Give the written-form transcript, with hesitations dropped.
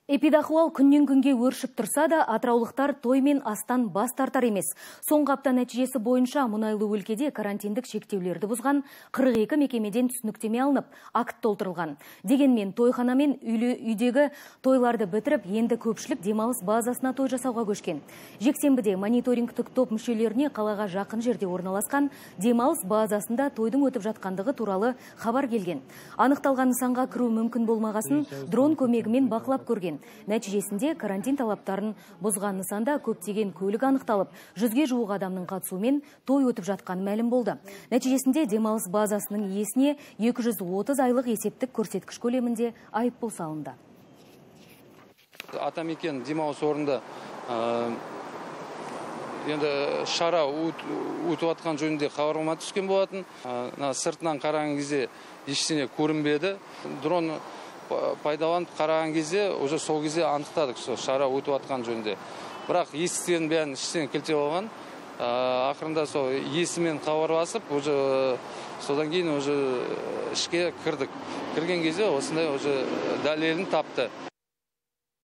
Эпидахуал күннен күнге өршіп тұрса да, атыраулықтар той мен астан бас тартар емес. Соңғы апта нәтижесі бойынша мұнайлы өлкеде карантиндік шектеулерді бұзған 42 мекемеден түсініктеме алынып, акт толтырылған. Дегенмен тойхана мен үйдегі тойларды бітіріп, енді көпшілік демалыс базасына той жасауға көшкен. Жексенбіде мониторингтік топ мүшелеріне қалаға жақын жерде орналасқан демалыс базасында тойдың өтіп жатқандығы туралы хабар келген. Анықталған нысанға кіру мүмкін болмағасын дрон көмегімен бақылап көрген. Нәтижесінде карантин талаптарын бұзған нысанда көптеген көлік анықталып, 100-ге жуық адамның қатысуымен той өтіп жатқаны мәлім болды. Нәтижесінде демалыс базасының иесіне 230 айлық есептік көрсеткіш көлемінде айыппұл салынды. Атамекен демалыс орнында енді шара өтіп жатқан жөнінде хабарлама түскен болатын. Сыртынан қараған кезде ештеңе көрінбеді. Дрон пайдаланып қараған кезде, уже сол кезде анықтадық, шара өтіп жатқан жөнінде. Бірақ есіктерін бәрін іштен кілтеп алған. Ақырында сол есімен хабарласып, уже содан кейін уже ішке кірдік. Кірген кезде осындай уже дәлелін тапты.